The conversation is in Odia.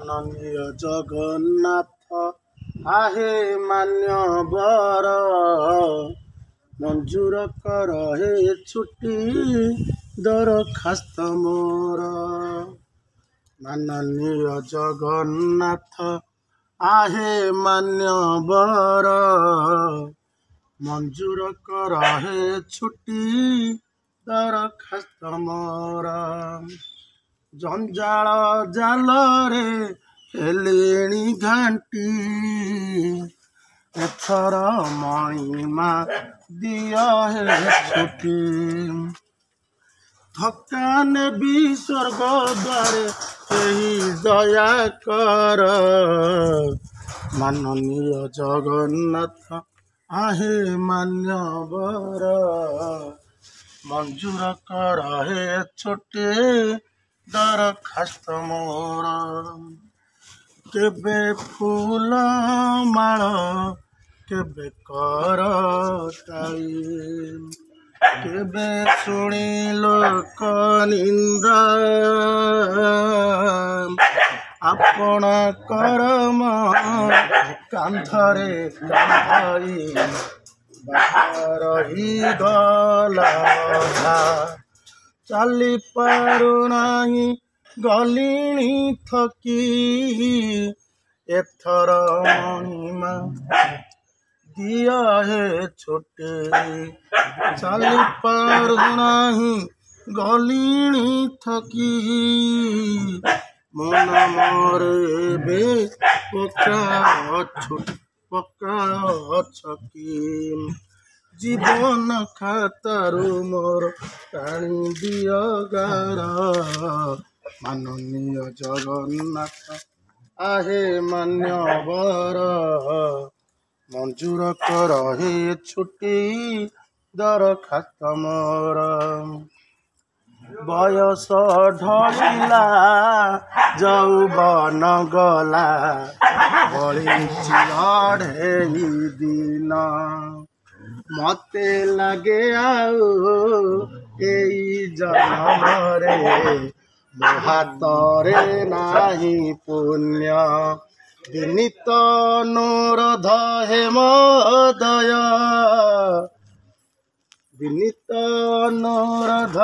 ମାନନୀୟ ଜଗନ୍ନାଥ ଆହେ ମାନ୍ୟବର, ମଞ୍ଜୁର କର ହେ ଛୁଟି ଦରଖାସ୍ତ ମୋର। ମାନନୀୟ ଜଗନ୍ନାଥ ଆହେ ମାନ୍ୟବର, ମଞ୍ଜୁର କର ହେ ଛୁଟି ଦରଖାସ୍ତ ମୋର। ଜଞ୍ଜାଳ ଜାଲରେ ହେଲିଣି ଘାଣ୍ଟି, ଏଥର ମଣିମା ଦିଅ ହେ ଛୁଟି। ଥକା ନେବି ସ୍ୱର୍ଗ ଦ୍ୱାରେ କେହି ଦୟା କର। ମାନନୀୟ ଜଗନ୍ନାଥ ଆହେ ମାନ୍ୟବର, ମଞ୍ଜୁର କର ହେ ଛୁଟି ଦରଖାସ୍ତ ମୋର। କେବେ ଫୁଲ ମାଳ କେବେ କର ତାଳି, କେବେ ଶୁଣି ଲୋକ ନିନ୍ଦା। ଆପଣା କରମ କାନ୍ଧରେ କାନ୍ଧଇ ବାଟ ରହିଗଲା ଅଧା। ଚାଲି ପାରୁନାହିଁ ଗଲିଣି ଥକି, ଏଥର ମଣିମା ଦିଅ ହେ ଛୁଟି। ଚାଲି ପାରୁନାହିଁ ଗଲିଣି ଥକି, ମନ ମୋର ଏବେ ପକା ପକା ଛକି। ଜୀବନ ଖାତାରୁ ମୋର ଟାଣି ଦିଅ ଗାର। ମାନନୀୟ ଜଗନ୍ନାଥ ଆହେ ମାନ୍ୟବର, ମଞ୍ଜୁର କର ହେ ଛୁଟି ଦରଖାସ୍ତ ମୋର। ବୟସ ଢଳିଲା ଯୌବନ ଗଲା, ବଳିଛି ଅଢ଼େଇ ଦିନ। ମତେ ଲାଗେ ଆଉ ଏଇ ଜନମରେ ମୋ ହାତରେ ନାହିଁ ପୁଣ୍ୟ। ବିନୀତ ଅନୁରୋଧ ହେ ମହୋଦୟ, ବିନୀତ ଅନୁରୋଧ।